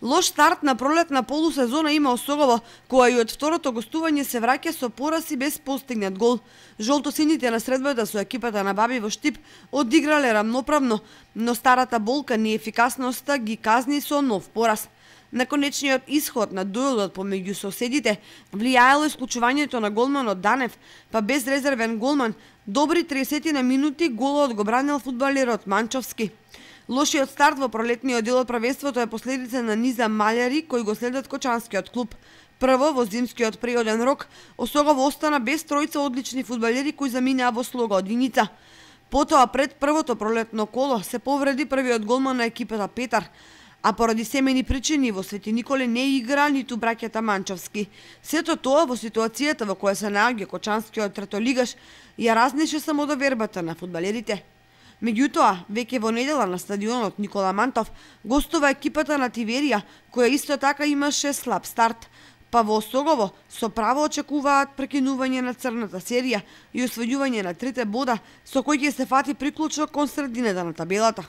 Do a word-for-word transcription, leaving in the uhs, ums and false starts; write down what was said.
Лош старт на пролетна полусезона има Осогово, која и од второто гостување се враќа со пораз и без постигнат гол. Жолтосините на средбата со екипата на Баби во Штип одиграле рамноправно, но старата болка неефикасноста ги казни со нов пораз. На конечниот исход на дуелот помеѓу соседите влијаело исклучувањето на голманот Данев, па без резервен голман, добри тридесет на минути голот го бранил фудбалерот Манчовски. Лошиот старт во пролетниот дел од првенството е последица на низа малјари кои го следат кочанскиот клуб. Прво, во зимскиот приоден рок, Осогово остана без тројца одлични фудбалери кои заминаа во слога одиница. Потоа, пред првото пролетно коло, се повреди првиот голман на екипата Петар, а поради семени причини во Свети Николе не игра ниту браќата Манчовски. Сето тоа во ситуацијата во која се наоѓа кочанскиот третолигаш ја разнеше само довербата на фудбалерите. Меѓутоа, веќе во недела на стадионот Никола Мантов гостува екипата на Тиверија, која исто така имаше слаб старт, па во Осогово со право очекуваат прекинување на црната серија и освојување на трите бода со кои ќе се фати приклучок кон средината на табелата.